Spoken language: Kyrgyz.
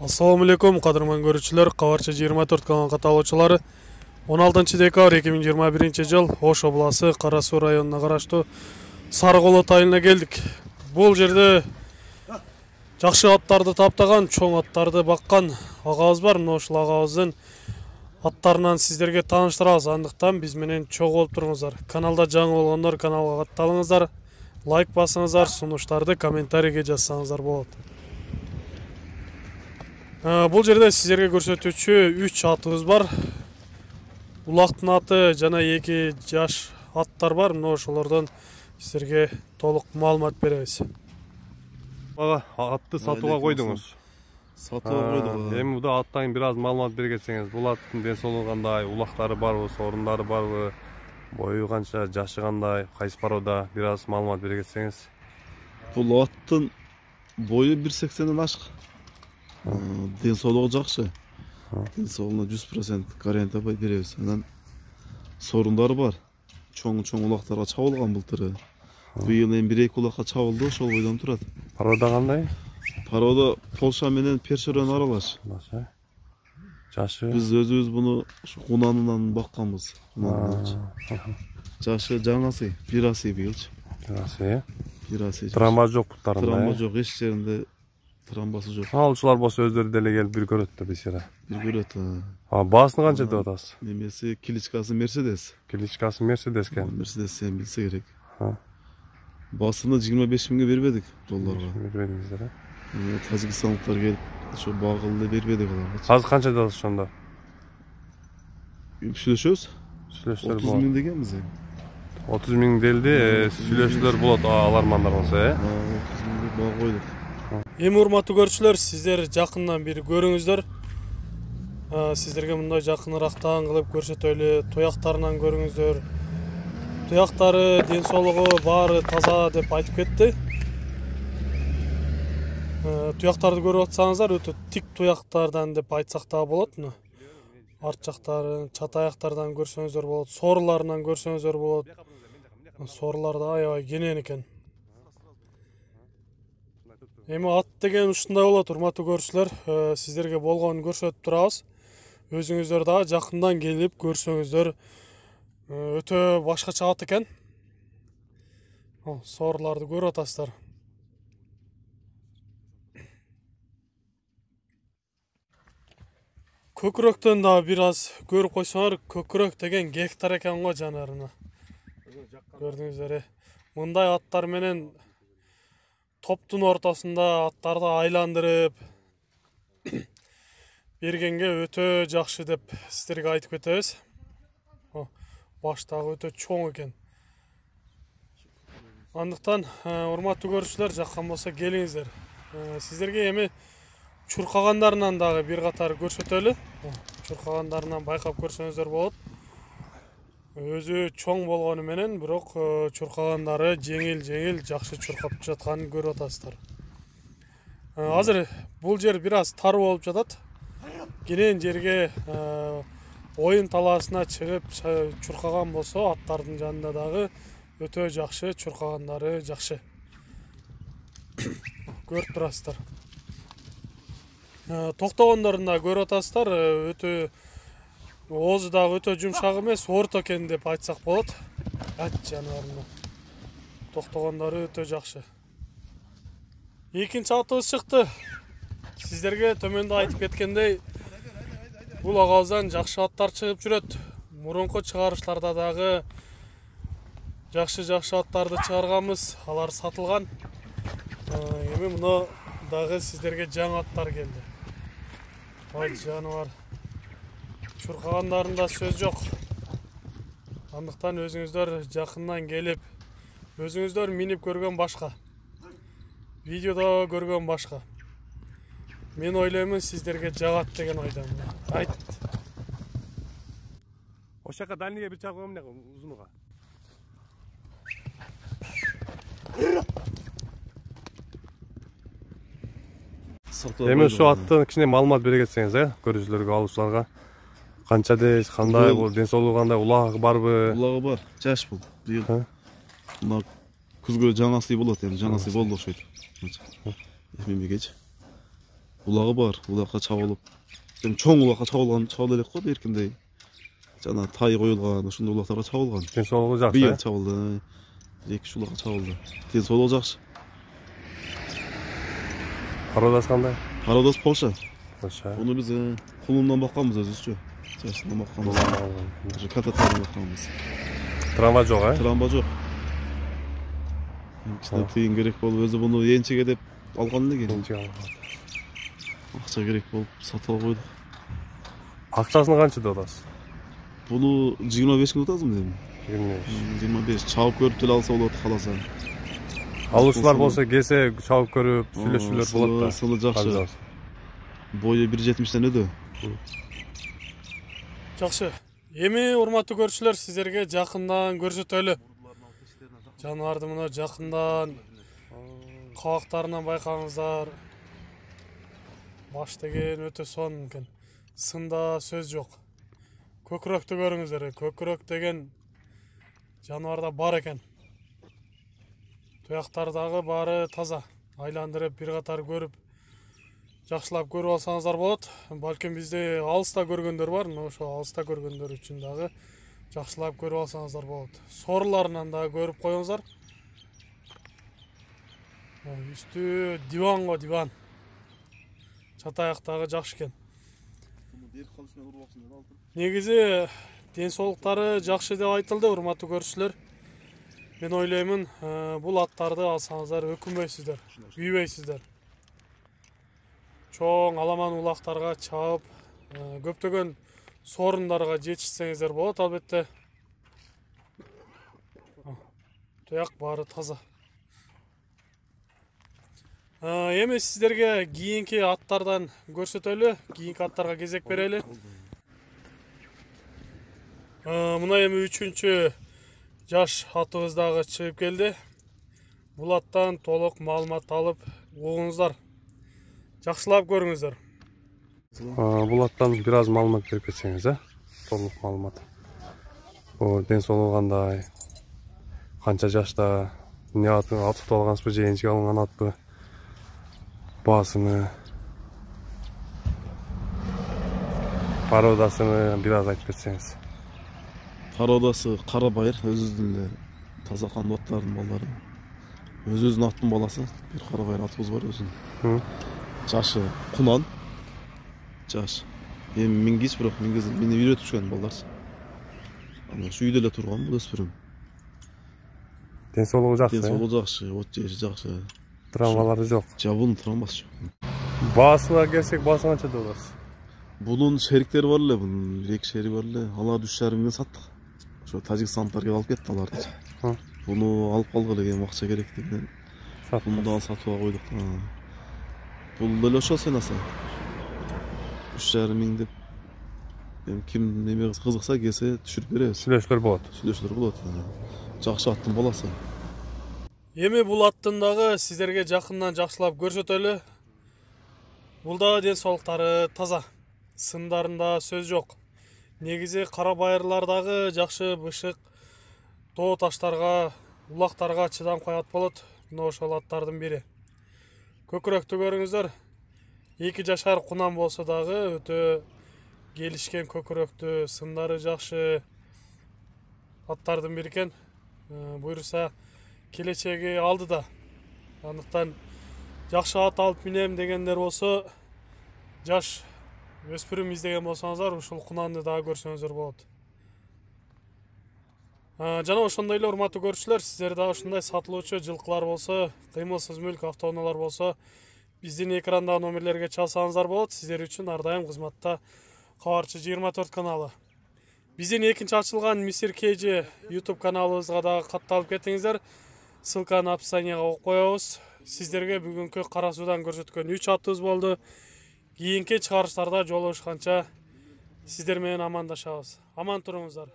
Assalamu alaikum, qadırman görüşçüler. Qavarcha 24 kanal kataloqchilari. 16 dekabr 2021 жыл Ош обласы Кара Суу районуна караштуу Сарыколот айылына келдик. Бул жерде жакшы аттарды таптаган, чоң аттарды баккан агабыз бар. Мына ушул агабыздын аттарынан сиздерге тааныштырабыз. Андыктан биз менен чогуу болуп туруңуздар. Каналда жаңы болгондор каналга катталыңыздар. Лайк басыңыздар, сунуштарды комментарийге жазсаңыздар болот. Бул жерде сиздерге көрсөтүүчү 3 атыбыз бар. Улактын аты жана 2 жаш аттар бар. Мына ошолордон сиздерге толук маалымат беребиз. Ага, атты сатууга койдуңуз. Сатууга койдук. Эми буда аттан бир аз маалымат бергенсеңиз, бул аттын ден соолугу кандай, улактары барбы, сорундары барбы, бою канча, жашы кандай, кайсы парода, бир аз маалымат бергенсеңиз. Бул аттын бою 1.80ден ашык. Ден соолугу жакшы. Ден соолугуна 100% гарантия беребиз. Анан сорундары бар. Чоң улактарга чабылган былтыры. Быйыл эми 1-2 улакка чабылды, ошол бойдон турат. Парода кандай? Парода Полша менен Першерен аралаш. Жашы? Биз өзүбүз буну кунанынан бакканбыз. Жашы жаңасы, 1 асый быйылчы. 1 асый. Травма жок буттарында. Травма жок, эч жеринде травмасы жок. Алуучулар болсо өздөрү деле келип бир көрөт да бисера. Бир көрөт. Баасын канча деп атасыз? Немеси киличкасы Мерседес. Киличкасы Мерседес экен. Мерседес сен билсе керек. Басыны 25 миңге бербедик долларга. Бербедиңиздер, Тажикстанлыктар келип, ошо багылды бербедик аларга. Азыр канча дадыңыз ошондо? Сүйлөшөбүз. 30 миң дегенбиз эми. 30 миң делди, сүйлөшүүлөр болот алармандар болсо, 30 миңге баа койдук. Эми урматтуу көрүүчүлөр, сиздер жакындан бир көрүңүздөр. Сиздерге мындай жакыныраактан кылып көрсөтөлү, туяктарынан көрүңүздөр. Туяктары, ден соолугу баары таза деп айтып кетти. Туяктарды көрүп атсаңыздар, өтө тик туяктардан деп айтсак да болот. Арт жактарын, чат аяктардан көрсөңүздөр болот, соруларынан көрсөңүздөр болот. Сорулар да аябай кенен экен. Эми ат деген ушундай болот, урматтуу көрүүчүлөр. Сиздерге болгонун көрсөтүп турабыз. Өзүңүздөр дагы жакындан келип көрсөңүздөр өтө башкача ат экен. Соруларды көрүп атасыздар. Көкүрөктөн да бир аз көрүп койсоңор, көкүрөк деген гектар экен го жанарына. Көрдүңүздөр, мындай аттар менен топтун ортосунда аттарды айландырып бергенге өтө жакшы деп сиздерге айтып кетебиз. Баштагы өтө чоң экен. Андыктан урматтуу көрүүчүлөр, жаккан болсо келиңиздер. Сиздерге эми чуркагандарынан дагы бир катар көрсөтөлү. Чуркагандарынан байкап көрсөңүздөр болот. Өзү чоң болгону менен, бирок чуркагандары жеңил жакшы чуркап жатканын көрүп атасыздар. Азыр бул жер бир аз тар болуп жатат. Кенен жерге оюн талаасына чыгып чуркаган болсо, аттардын жанында дагы өтө жакшы чуркагандары жакшы. Көрүп турасыздар. Токтогондорун да көрүп атасыздар. Өтө оозу дагы өтө жумшак эмес, орто экен деп айтсак болот. Ат жаныбарына. Токтогондору өтө жакшы. Экинчи атыбыз чыкты. Сиздерге төмөндө айтып кеткендей, бул агабыздан жакшы аттар чыгып жүрөт. Мурунку чыгарыштарда дагы жакшы аттарды чыгарганбыз, алар сатылган. Эми мына дагы сиздерге жаңы аттар келди. Ой жаныбар. Чуркагандарында сөз жок. Андыктан өзүңүздөр жакындан келип, өзүңүздөр минип көргөн башка. Видеодо көргөн башка. Мен ойлоймун, сиздерге жагат деген ойдомун. Айт. Ошака дальныйга бир чакырып эмне узунуга. Эми ушу аттын кичине маалымат бергенсеңиз, көрүүчүлөргө, алуучуларга. Канча дейсиз, кандай, ден соолугу кандай, улагы барбы? Улагы бар, жаш бул. Быйыл мына күзгө жаңасы болот, эми жаңасы болду окшойт. Эмемегечи. улагы бар. Улакка чабылып. Эми чоң улакка чабыла элек го беркиндей. Жана тай коюлган, ошондой улактарга чабылган. Ден соолугу жакшы. Быйыл чабылды. 2-3 улакка чабылды. Ден соолугу жакшы. Породасы кандай? Породасы Польша. Польша. Буну биз кулундан бакканбыз өзүбүзчө. Жашынан бакканбыз. Ошо кататардан бакканбыз. Травма жок, Травма жок. Кичине тыйын керек болуп, өзү буну энчеге деп алган элек. Акча керек болуп сатып алып койдук. Акчасын канча деп атасыз? Буну 25 миң атасызбы эми? 25. 25. Чабып көрүп деле алса болот кааласа. Алуучулар болсо келсе чабып көрүп, сүйлөшүүлөр болот да. Сыны жакшы. Бою 1.70-тен өдө. Жакшы. Эми урматтуу көрүүчүлөр, сиздерге жакындан көрсөтөлү. Жаныбарды мына жакындан кабактарынан байкаңыздар. Баш деген өтө сонун экен. Сында сөз жок. Көкүрөктү көрүңүздөр. Көкүрөк деген жаныбарда бар экен. Туяктардагы баары таза. Айландырып бир катар көрүп, жакшылап көрүп алсаңыздар болот. Балким бизди алыста көргөндөр бар, ошо алыста көргөндөр үчүн дагы жакшылап көрүп алсаңыздар болот. Соруларынан да көрүп коюңуздар. Үстү диван го, диван. Чатаяктагы жакшы экен. Негизи ден соолуктары жакшы деп айтылды, урматтуу көрүүчүлөр. Мен ойлоймун, бул аттарды алсаңыздар өкүнбөйсүздөр, күйбөйсүздөр. Чоң аламан улактарга чаап, көптөгөн сорундарга жетишсеңиздер болот албетте. Туяк баары таза. Эми сиздерге кийинки аттардан көрсөтөлү, кийинки аттарга кезек берели. Мына эми 3-чү жаш атыбыз дагы чыгып келди. Бул аттан толук маалымат алып угуңуздар. Жакшылап көрүңүздөр. Бул аттан бир аз маалымат берип кетсеңиз, толук маалымат. Бул ден соолугу кандай? Канча жашта? Эмне атып алгансызбы же энчиге алынган атпы? Баасыны, породасыны бир аз айтып кетсеңиз. Породасы кара байыр, өзүбүздүн эле таза кандуу аттардын балдары. Өзүбүздүн аттын баласы, бир кара байыр атыбыз бар өзүнүн. Жашы кунан. Жаш. Эми мингич, бирок мени үйрөтүп жүргөн балдар. Аны ушу үйдө эле турган бул өспүрүм. Ден соолугу жакшы. Ден соолугу жакшы, от жеши жакшы. Травмалары жок. Жабын травмасы жок. Баасына келсек, баасы канча деп атасыз? Бунун шериктери бар эле, бунун 2 шерик бар эле. Аларды 3,5 миңден саттык. Ошо тажикстандыктар келип алып кетти аларды. Буну алып калгыла, эми акча керек деген. Буну да сатып алып койдук. Бул деле ошо сенаса. 3,5 миң деп. Эми ким неме кызыкса келсе түшүрүп беребиз. Сүйлөшүүлөр болот. Сүйлөшүүлөр болот. Жакшы аттын баласы. Эми бул аттын дагы сиздерге жакындан жакшылап көрсөтөлү. Бул да ден соолуктары таза. Сындарында сөз жок. Негизи кара байырлар дагы жакшы бышык тоо таштарга, улактарга чыдамкай ат болот. Мына ошол аттардын бири. Көкүрөктү көрүңүздөр. 2 жашар кунан болсо дагы өтө келишкен көкүрөктү, сындары жакшы аттардын бири экен. Буюрса келечеги алдыда. Андыктан жакшы ат алып минем дегендер болсо, жаш өспүрүм издеген болсоңуздар, ушул кунанды дагы көрсөңүздөр болот. Жана ошондой эле урматтуу көрүүчүлөр, сиздер дагы ушундай сатылуучу жылкылар болсо, кыймылсыз мүлк автоунаалар болсо, биздин экрандагы номерлерге чалсаңыздар болот. Сиздер үчүн ар дайым кызматта Кабарчы 24 каналы. Биздин экинчи ачылган Мистер KG YouTube каналыбызга дагы катталып кетиңиздер. Ссылканы описанияга коюп коебуз. Сиздерге бүгүнкү кара суудан көрсөткөн 3 аттыбыз болду. Кийинки чыгарыштарда жолугушканча сиздер менен амандашабыз. Аман туруңуздар.